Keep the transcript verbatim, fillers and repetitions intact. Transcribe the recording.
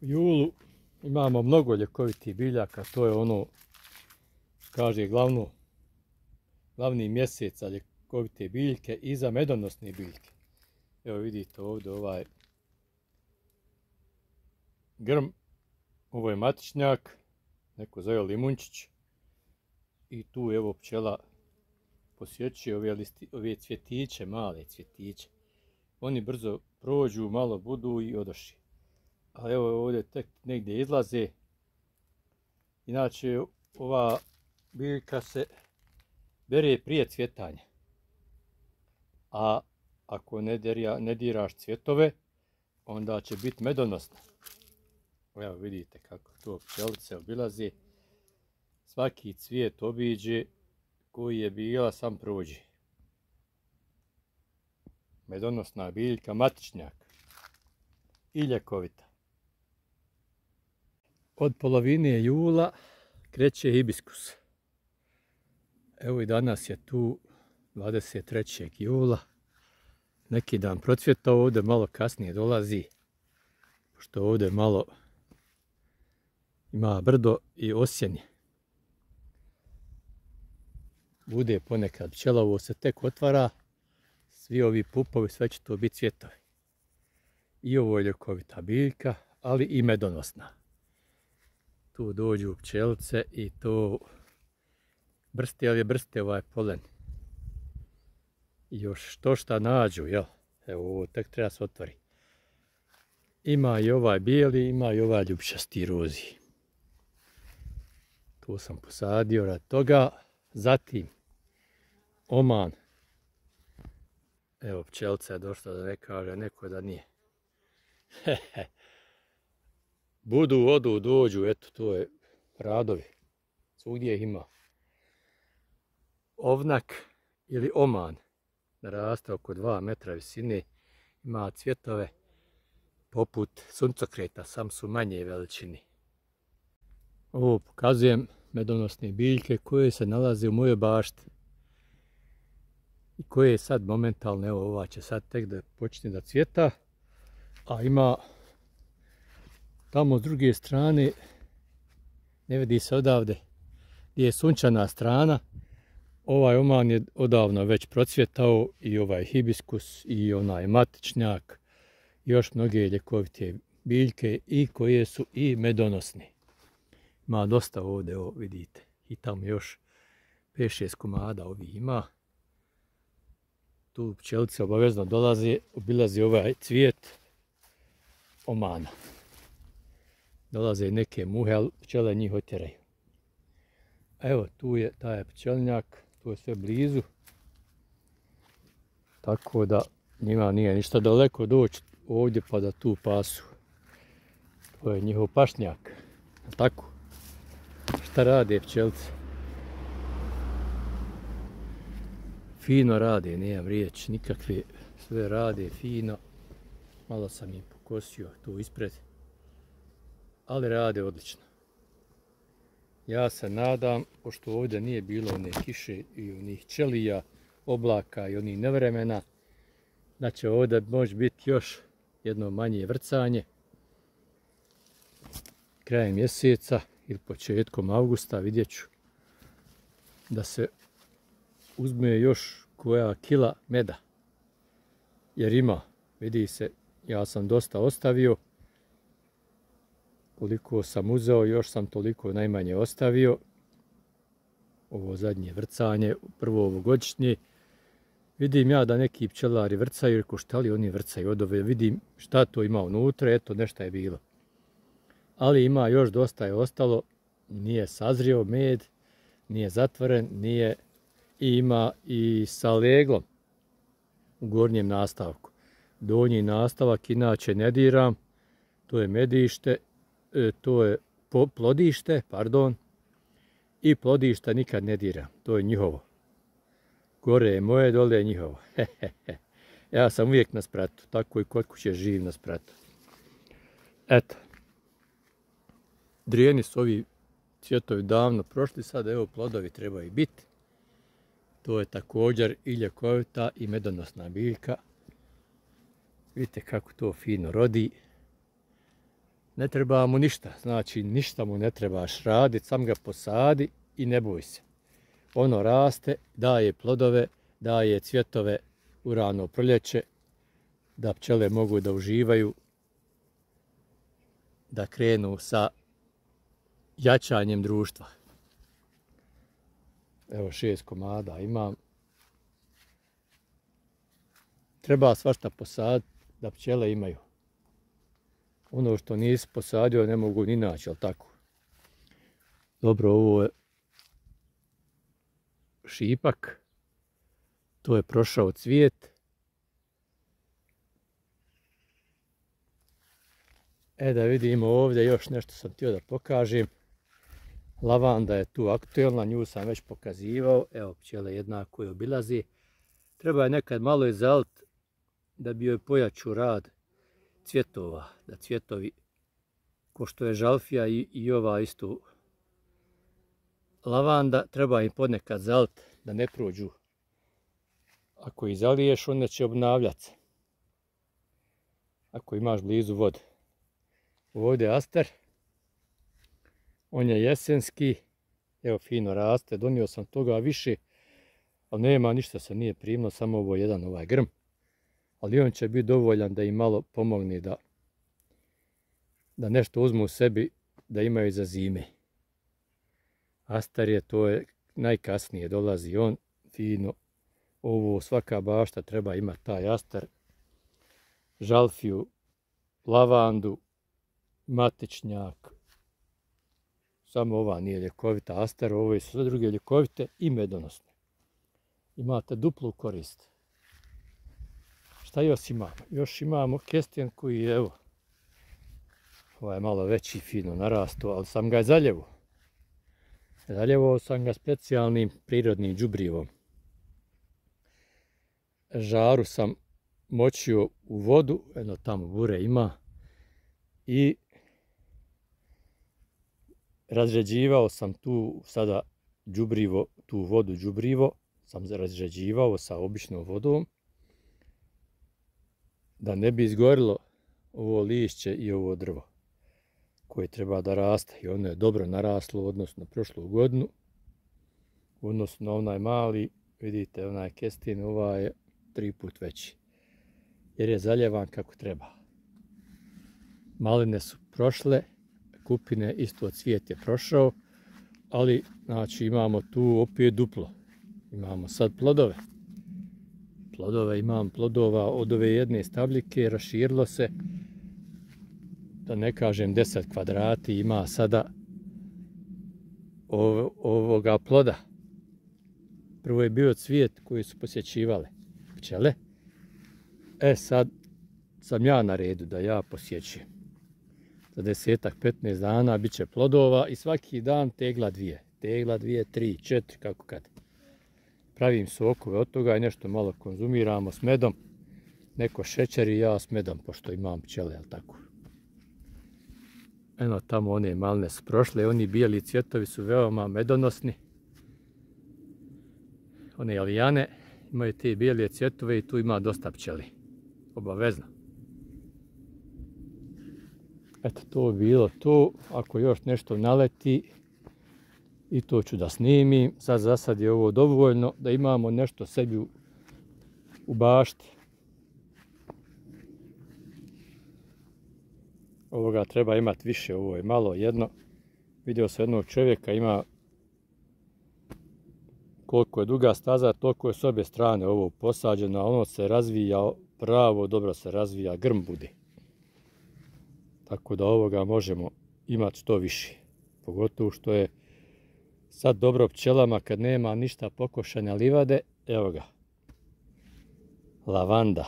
julu imamo mnogo ljekovitih biljaka, to je ono, kaže, glavno, glavni mjesec za ljekovite biljke i za medonosne biljke. Evo vidite ovdje ovaj grm, ovo je matičnjak, neko zove limunčić, i tu evo pčela posjećuje ove, listi, ove cvjetiće, male cvjetiće. Oni brzo prođu, malo budu i odoši. Ali evo ovdje tek negdje izlaze. Inače ova biljka se bere prije cvjetanja. A ako ne, derja, ne diraš cvjetove, onda će biti medonosna. Evo vidite kako to pčelice obilaze. Svaki cvijet obiđe, koji je bila sam prođe. Medonosna biljka, matičnjak i ljekovita. Od polovine jula kreće hibiskus. Evo i danas je tu dvadeset trećeg jula. Neki dan procvjetao, ovdje malo kasnije dolazi, pošto ovdje malo ima brdo i osjenje. Bude ponekad pčelovo se tek otvara, svi ovi pupovi, sve će to biti cvjetovi. I ovo je ljekovita biljka, ali i medonosna. Tu dođu pčelice i to brste, ali je brste ovaj polen. I još što šta nađu, jel? Evo ovo tek treba se otvori. Ima i ovaj bijeli, ima i ovaj ljubčasti rozi. Tu sam posadio rad toga. Zatim oman. Evo pčelica je došla da ne kaže neko da nije. Budu, odu, dođu, eto to je radovi. Svugdje ih ima. Ovnak ili oman naraste oko dva metra visine. Ima cvjetove poput suncokreta, sam su manje veličini. Ovo pokazujem medonosne biljke koje se nalaze u mojoj bašti. I koje sad momentalno, evo ova će sad tek da počne da cvjeta. A ima tamo s druge strane, ne vidi se odavde, gdje je sunčana strana. Ovaj oman je odavno već procvjetao i ovaj hibiskus i onaj matičnjak. I još mnoge ljekovite biljke i koje su i medonosne. Ima dosta ovdje, evo vidite. I tamo još pet šest komada ovih ima. Tu pčelice obavezno dolaze, obilaze ovaj cvijet omana. Dolaze neke muhe, ali pčele njih otjeraju. Evo tu je taj pčelinjak, tu je sve blizu. Tako da njima nije ništa daleko doći ovdje pa da tu pasu. To je njihov pašnjak. Tako. Šta rade pčelice? Fino rade, nemam riječ, nikakve, sve rade fino. Malo sam im pokosio tu ispred, ali rade odlično. Ja se nadam, pošto ovdje nije bilo one kiše i onih ćelija, oblaka i onih nevremena, da će ovdje može biti još jedno manje vrcanje. Krajem mjeseca ili početkom avgusta vidjet ću da se uzme još koja kila meda. Jer ima, vidi se, ja sam dosta ostavio. Koliko sam uzeo, još sam toliko najmanje ostavio. Ovo zadnje vrcanje, prvo ovogodišnje. Vidim ja da neki pčelari vrcaju, reko šta li oni vrcaju od ove, vidim šta to ima unutra, eto nešto je bilo. Ali ima još dosta je ostalo, nije sazrio med, nije zatvoren, nije i ima i sa leglom u gornjem nastavku. Donji nastavak inače ne diram, to je medište, to je plodište, pardon, i plodišta nikad ne diram, to je njihovo. Gore je moje, dole je njihovo. Ja sam uvijek na spratu, tako i kod kuće živim na spratu. Eto. Drijeni su ovi cvjetovi davno prošli, sad evo plodovi trebaju biti. To je također i ljekovita i medonosna biljka. Vidite kako to fino rodi. Ne treba mu ništa, znači ništa mu ne trebaš raditi, sam ga posadi i ne boj se. Ono raste, daje plodove, daje cvjetove u rano proljeće, da pčele mogu da uživaju, da krenu sa jačanjem društva. Evo šest komada imam. Treba svašta posaditi da pčele imaju. Ono što nisi posadio ne mogu ni naći, jel tako? Dobro, ovo je šipak. To je prošao cvijet. E da vidimo ovdje još nešto sam htio da pokažem. Lavanda je tu aktuelna, nju sam već pokazivao. Evo pčele jednako je obilazi. Treba je nekad malo izaliti da bi joj pojačao rad cvjetova. Da cvjetovi, ko što je žalfija i, i ova isto lavanda, treba im ponekad zaliti da ne prođu. Ako ih zaliješ, onda će obnavljati se. Ako imaš blizu vode. Ovdje je aster. On je jesenski. Evo fino raste. Donio sam toga više. Ali nema ništa se nije primilo. Samo ovo jedan ovaj grm. Ali on će biti dovoljan da im malo pomogne da, da nešto uzmu u sebi. Da imaju za zime. Aster je, to je najkasnije dolazi on. Fino. Ovo svaka bašta treba imati taj aster. Žalfiju. Lavandu. Matičnjak. Samo ova nije ljekovita aster, ove su sve druge ljekovite i medonosne. Imate duplu korist. Šta još imamo? Još imamo kestjen koji je, evo, ovaj je malo veći, fino narasto, ali sam ga zaljevo. Zaljevo sam ga specijalnim prirodnim đubrivom. Žaru sam močio u vodu, jedno tamo bure ima, i razređivao sam tu sada đubrivo, tu vodu đubrivo sam razređivao sa običnom vodom da ne bi izgorilo ovo lišće i ovo drvo koje treba da raste. I ono je dobro naraslo u odnosu na prošlu godinu. U odnosu na onaj mali, vidite, onaj kestin, ovaj je tri put veći. Jer je zaljevan kako treba. Maline su prošle, kupine isto cvijet je prošao, ali znači imamo tu opet duplo. Imamo sad plodove. Plodove imam plodova od ove jedne stabljike, raširilo se, da ne kažem deset kvadrati, ima sada ov, ovoga ploda. Prvo je bio cvijet koji su posjećivale pčele. E sad sam ja na redu da ja posjećujem. Za desetak, petnaest dana bit će plodova i svaki dan tegla dvije. Tegla dvije, tri, četiri, kako kad. Pravim sokove od toga i nešto malo konzumiramo s medom. Neko šećer i ja s medom, pošto imam pčele, jel tako? Eno, tamo one maline su prošle, oni bijeli cvjetovi su veoma medonosni. One alijane imaju te bijele cvjetove i tu ima dosta pčeli. Obavezno. Eto, to bi bilo to. Ako još nešto naleti, i to ću da snimim. Sad za sad je ovo dovoljno da imamo nešto sebi u, u bašti. Ovoga treba imati više, ovo je malo jedno. Vidio sam jednog čovjeka, ima koliko je duga staza, toliko je s obje strane ovo posađeno, a ono se razvija pravo, dobro se razvija, grm bude. Tako da ovoga možemo imati što više. Pogotovo što je sad dobro pčelama kad nema ništa pokošanja livade. Evo ga. Lavanda.